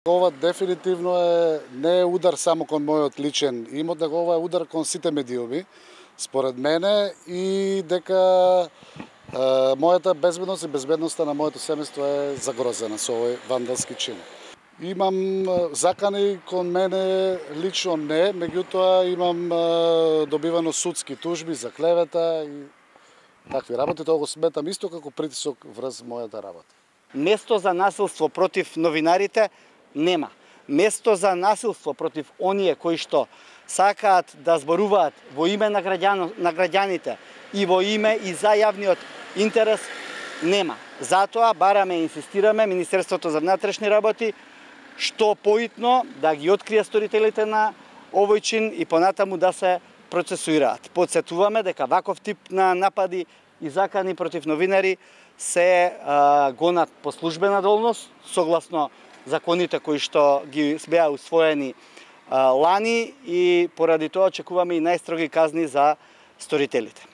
Ова дефинитивно не е удар само кон мојот личен имот, него ова е удар кон сите медиуми, според мене, и дека мојата безбедност и безбедноста на моето семејство е загрозена со овој вандалски чин. Имам закани кон мене лично не, меѓутоа имам добивано судски тужби за клевета и такви работи, тоа го сметам исто како притисок врз мојата работа. Место за насилство против новинарите нема. Место за насилство против оние кои што сакаат да зборуваат во име на граѓаните и во име и за јавниот интерес нема. Затоа бараме и инсистираме Министерството за внатрешни работи што поитно да ги открие сторителите на овој чин и понатаму да се процесуираат. Подсетуваме дека ваков тип на напади и закани против новинари се гонат по службена должност, согласно законите кои што ги беа усвоени лани, и поради тоа очекуваме и најстроги казни за сторителите.